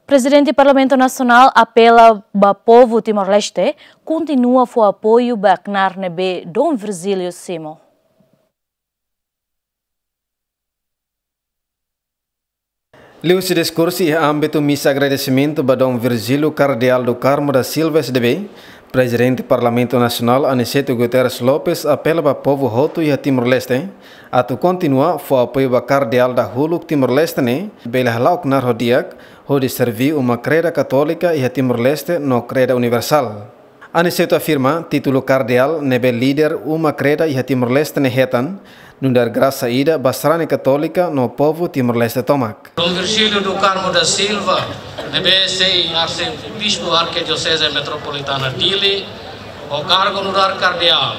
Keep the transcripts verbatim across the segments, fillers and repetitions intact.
Prezidente Parlamentu Nasionál apela ba povu Timor-Leste kontinua fó apoiu ba knaar ne'ebé Dom Virgílio simu. Liuhusi diskursu iha ámbitu misa agradesimentu ba Dom Virgílio Kardeál do Carmo da Silva S D B, Prezidente Parlamentu Nasionál Aniceto Guterres Lopes apela ba povu hotu iha Timor-Leste atu kontinua fó apoiu ba kardeál dahuluk Timor-Leste ne'e, bele hala'o knaar ho di'ak, hodi serví uma kreda katólika iha Timor-Leste no kreda universál. Aniceto afirma, títulu kardeál ne'ebé líder uma kreda iha Timor-Leste ne'e hetan, nu'udar grasa ida ba sarani katólika no povu Timor-Leste tomak. Dom Virgílio do Carmo da Silva, ne'ebé sei Arsebispu Arkidioseze Metropolitana Dili, ho kargu nu'udar kardeál,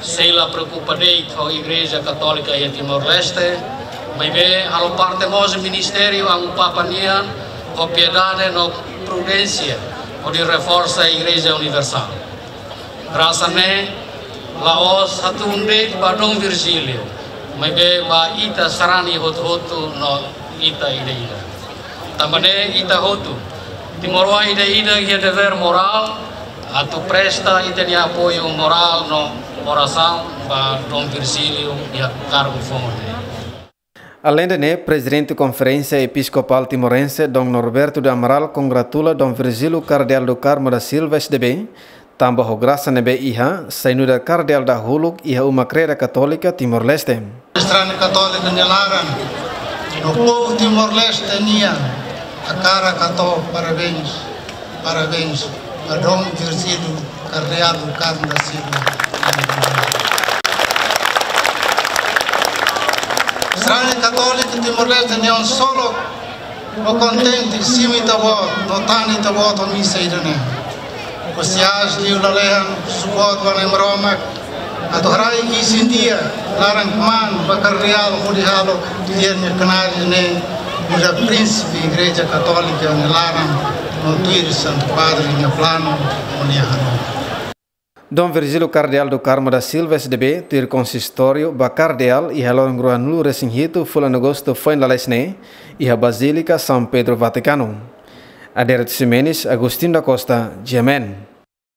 sei la preokupa de'it ho Igreja Katólika iha Timor-Leste, maibé halo parte mós ministériu Amu Papa nian, ho piedade no prudénsia, hodi reforsa Igreja Universál. Grasa ne'e la'ós hatún de'it ba Dom Virgílio, maibé ba ita sarani hotu-hotu no ita ida-idak. Tanba ne'e ita hotu, timoroan ida-idak iha devér morál atu presta ita-nia apoiu morál no orasaun ba Dom Virgílio iha kargu foun ne'e. Aleinde ne'e, Prezidente Konferénsia Episkopál Timorense, Dom Norberto do Amaral, kongratula Dom Virgílio Kardeál do Carmo da Silva S D B, tanba ho grasa ne'ebé iha, sai nu'udar kardeál dahuluk iha uma kreda katólika Timor-Leste. Sarani katólika nia laran, no povu Timor-Leste nian, hakarak hato'o parabéns, parabéns ba Dom Virgílio Kardeál do Carmo da Silva. Sarani katólika Timor-Leste nian solo, no kontente, simu Ita-Boot, no tane Ita-Boot ho misa ida-ne'e. Husi aas liu lalehan, suporta ba Nai Maromak, atu haraik isin-di'ak, laran-kmaan ba kardeál hodi halo, tuir nia knaar ne'e, nu'udar Prínsipe Igreja Katólika nia laran, no tuir Santu Padre nia planu, no nia hanoin. Dom Virgílio Kardeál do Carmo da Silva S D B, tuir konsistóriu ba kardeál iha loron ruanulu-resin-hitu fulan Agostu foin lalais ne'e, iha Bazílika São Pedro Vatikanu. Adérito Ximenes, Agostinho da Costa, G M N.